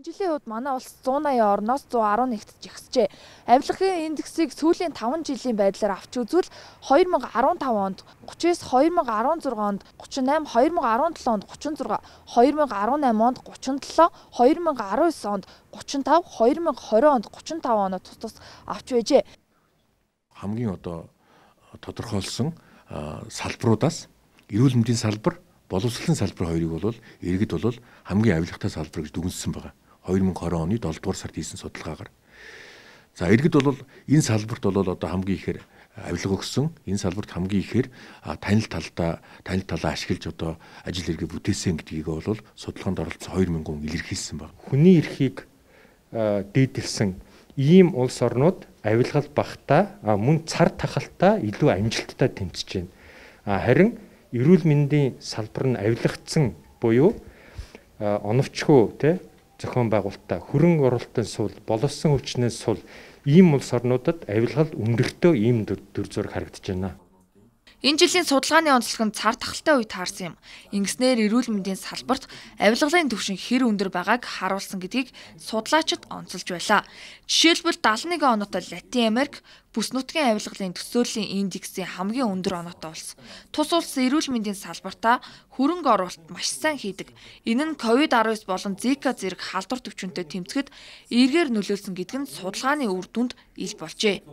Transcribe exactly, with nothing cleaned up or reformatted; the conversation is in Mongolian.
Жилийн хувьд манай улс зуун аяа орноос зуун арван нэгт жигсжээ. Авилгын индексийг сүүлийн таван жилийн байдлаар авч үзвэл хоёр мянга арван тав онд гучин девять, хоёр мянга арван зургаан онд гучин восемь, хоёр мянга арван семь онд гучин зургаан, хоёр мянга арван восемь онд гучин семь, хоёр мянга арван девять онд гучин пять, хоёр мянга двадцать онд гучин пять оноо тус тус авч байжээ. Хамгийн одоо тодорхойлсон салбаруудаас эрүүл мэндийн салбар, боловсролын салбар хоёрыг бол иргэд бол хамгийн авилгатай салбар гэж дүгнсэн байгаа. хоёр мянга двадцать оны долдугаар сард хийсэн судалгаагаар. За иргэд бол энэ салбарт бол одоо хамгийн ихээр авилга өгсөн. Энэ салбарт хамгийн ихээр танил талдаа танил талаа ашиглаж одоо ажил хэрэг бүтээсэн гэдгийг бол судалгаанд оролцсон хоёр мянга хүн илэрхийлсэн байна. Хүний эрхийг дээдэлсэн ийм улс орнууд авилгал багтаа мөн цар тахалтай илүү амжилттай тэмцэж байна. Харин эрүүл мэндийн салбар нь авилгацсан буюу оновчгүй тий зохион байгуулалтаа хөрөнгө оруулалтын сул, боловсон хүчнээс сул ийм улс орнуудад авилгал өндөртөө ийм дүр зураг харагдаж байна. Энэ жилийн судалгааны онцлог нь цар тахалтай үед таарсан юм. Ингэснээр эрүүл мэндийн салбарт авилгалын түвшин хэр өндөр байгааг харуулсан гэдгийг судлаачид онцолж байлаа. Жишээлбэл дагалан нэг оноотой Латин Америк бүс нутгийн авилгалын төсөөллийн индексийн хамгийн өндөр оноотой улс. Тус улс эрүүл мэндийн салбартаа хөрөнгө оруулалт маш сайн хийдэг. Энэ нь ковид десятtogoz болон Зика зэрэг халдвар төвчөнтэй тэмцэхэд эргээр нөлөөлсөн гэдэг нь судалгааны үр дүнд ил болжээ.